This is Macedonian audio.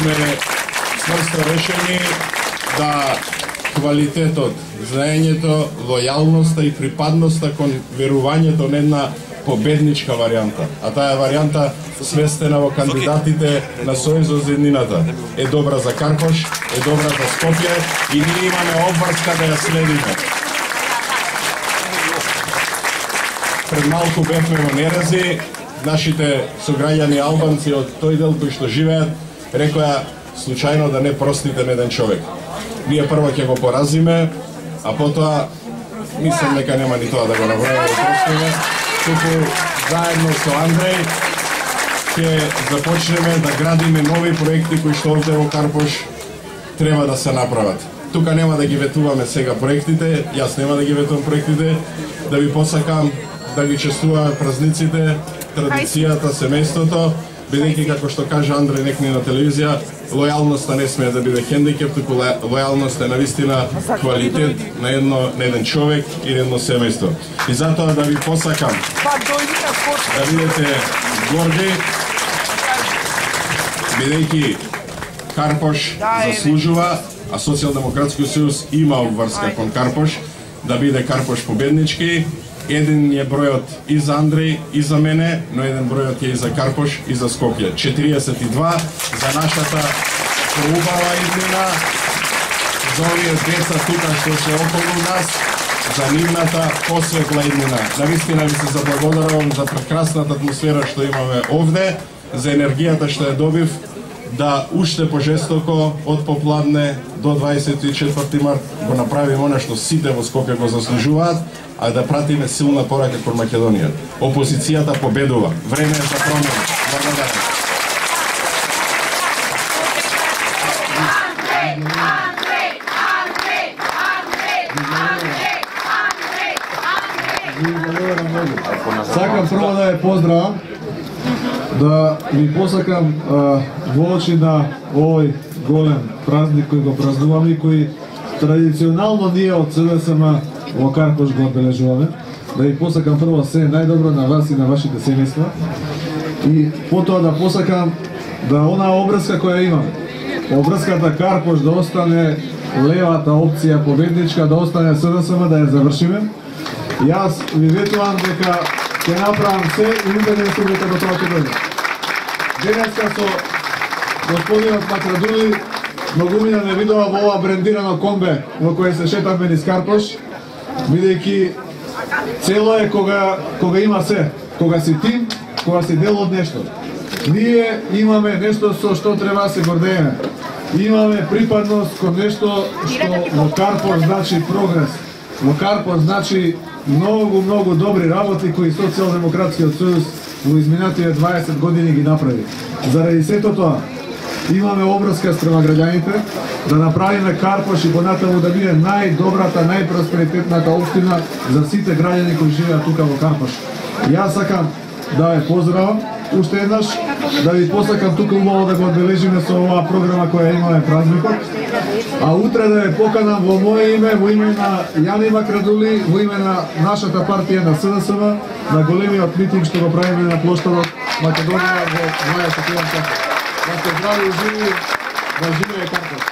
сме чврсто решени да квалитетот, знаењето, лојалноста и припадноста кон верувањето на една победничка варијанта. А таа варијанта свестена во кандидатите на Сојузот за еднината. Е добра за Карпош, е добра за Скопје и ние имаме обврска да ја следиме. Пред малку бевме во Нерези, нашите сограѓани албанци од тој дел кои што живеат, рекоа случајно да не простите на еден човек. Ние прво ќе го поразиме, а потоа мислам дека нема ни тоа да го направиме да простиме. Туку заедно со Андреј ќе започнеме да градиме нови проекти кои што овде во Карпош треба да се направат. Тука нема да ги ветуваме сега проектите, јас нема да ги ветувам проектите, да ви посакам да ги честуваме празниците, традицијата, семејството, бидејќи како што кажа Андреј некни на телевизија, лојалноста не смее да биде хендикеп, туку лојалноста е навистина квалитет на еден човек и едно семејство. И затоа да ви посакам да бидете горди, бидејќи Карпош заслужува, а Социјалдемократскиот сојуз има обврска кон Карпош, да биде Карпош победнички. Еден е бројот и за Андреј, и за мене, но еден бројот е и за Карпош, и за Скопје. 42 за нашата убава иднина, за овие деца тука што се околу нас, за нивната посветла иднина. Навистина ви се заблагодарувам за прекрасната атмосфера што имаме овде, за енергијата што ја добив, да уште пожестоко од попладне до 24 март го направиме она што сите во Скопје го заслужуваат, а да пратиме силна порака кон Македонија. Опозицијата победува. Време е за промена. Благодарам. Сакам прво да ја поздравам, да ви посакам во очи на овој голем празник кој го празнуваме и кој традиционално ние од СДСМ во Карпош го одбележуваме. Да ви посакам прво се најдобро на вас и на вашите семејства. И потоа да посакам да онаа обврска која имаме, обврската Карпош да остане левата опција победничка, да остане СДСМ, да ја завршиме. Јас ви ветувам дека ќе направам се и убеден сум дека до тоа ќе дојде. Денеска со господинот Макрадули многумина не видува во ова брендирано комбе во кое се шетаме низ Карпош, бидејќи цело е кога има се, кога си тим, кога си дел од нешто. Ние имаме нешто со што треба се гордееме. Имаме припадност кон нешто што во Карпош значи прогрес. Во Карпош значи многу добри работи кои Социјалдемократскиот сојуз во изминативе 20 години ги направи. Заради сето тоа имаме обврска спрема граѓаните да направиме Карпош и понатаму да биде најдобрата, најпросперитетната општина за сите граѓани кои живеат тука во Карпош. Јас сакам да ве поздравам уште еднаш, да ви посакам тука убаво да го одбележиме со оваа програма која имаме празникот, а утре да ве поканам во моје име, во име на Јани Макрадули, во име на нашата партија на СДСМ, на големиот митинг што го правиме на плоштадот Македонија во 21 часот. Да се здрави и живи, да живее Карпош.